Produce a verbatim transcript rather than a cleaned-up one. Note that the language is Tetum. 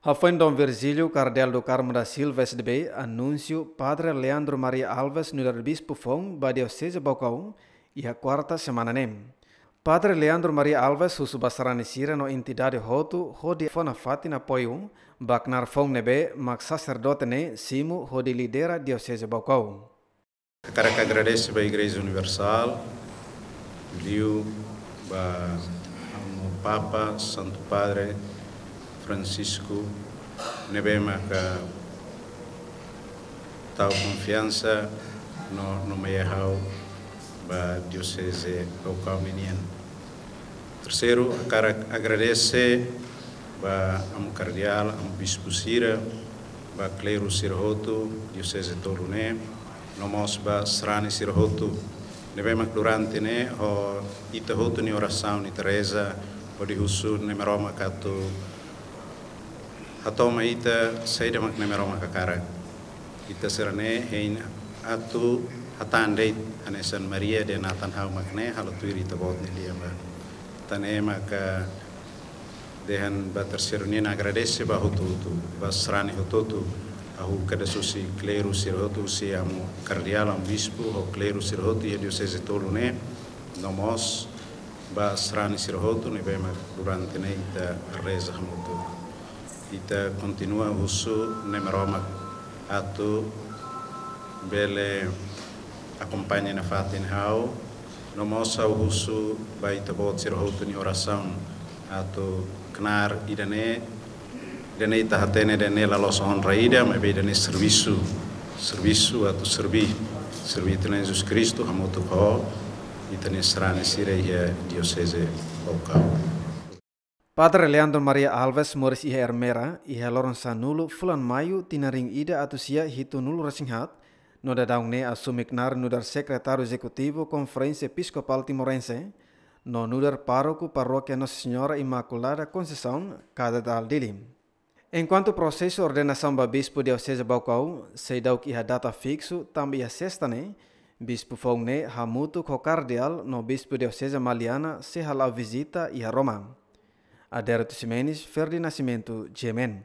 Hafoin Dom Virgílio, Kardeál do Carmo da Silva S D B, anunsiu Padre Leandro Maria Alves nu'udar bispu foun ba Dioseze Baucau iha kuarta semana ne'e. Padre Leandro Maria Alves husu ba sarani sira no entidade hotu hodi fó nafatin apoiu ba knaar foun ne'ebé mak saserdote ne'e simu hodi lidera Dioseze Baucau. Hakarak agradese ba Igreja Universál, liu ba Amu Papa Santu Padre Francisco, ne'ebé maka tau konfiansa no nomeia ha'u ba Dioseze Baucau ninian. Terseiru, hakarak agradese ba Amu Kardeál, Amu Bispu sira, ba kleru sira hotu Dioseze tolu ne'e, no mós ba sarani sira hotu ne'ebé mak durante ne'e ho ita hotu nia orasaun, ita reza hodi husu Na'i Maromak atu hato'o mai ita saida mak Na'i Maromak hakarak. Ita sira-ne'e hein atu hatán de'it hanesan Maria dehan Nathan, ha'u mak ne'e, halo tuir Ita-Boot nia lian ba. Tan ne'e maka dehan ba terseiru nian agradese ba hotu-hotu, ba sarani hotu-hotu, hahú kedas husi kleru sira hotu, husi Amu Kardeál, Amu Bispu, ho kleru sira hotu iha Dioseze tolu ne'e, no mós ba sarani sira hotu ne'ebé mak durante ne'e ita reza hamutuk. Ita kontinua husu Na'i Maromak atu bele akompaña nafatin ha'u, no mós ha'u husu ba Ita-Boot sira hotu nia orasaun atu knaar ida-ne'e, ida-ne'e ita hatene ida-ne'e la loos onra ida, maibé ida-ne'e servisu, servisu atu serví, serví Ita-Nia Jesus Kristu hamutuk ho ita-nia sarani sira iha Dioseze Baucau. Padre Leandro Maria Alves moris iha Ermera iha loron sanulu fulan Maiu tinan rihun ida atus sia hitunulu resin haat, no daudaun ne'e asume knaar nu'udar Sekretáriu Ezekutivu Konferénsia Episkopál Timorense, no nu'udar pároku Parókia Nossa Senhora Imaculada Conceição, Katedrál Dili. Enkuantu prosesu ordenasaun ba bispu Dioseze Baucau seidauk iha data fiksu tanba iha sesta ne'e, bispu foun ne'e hamutuk ho Kardeál no Bispu Dioseze Maliana sei hala'o vizita iha Roma. Adérito Ximenes, Ferdi Nascimento, G M N.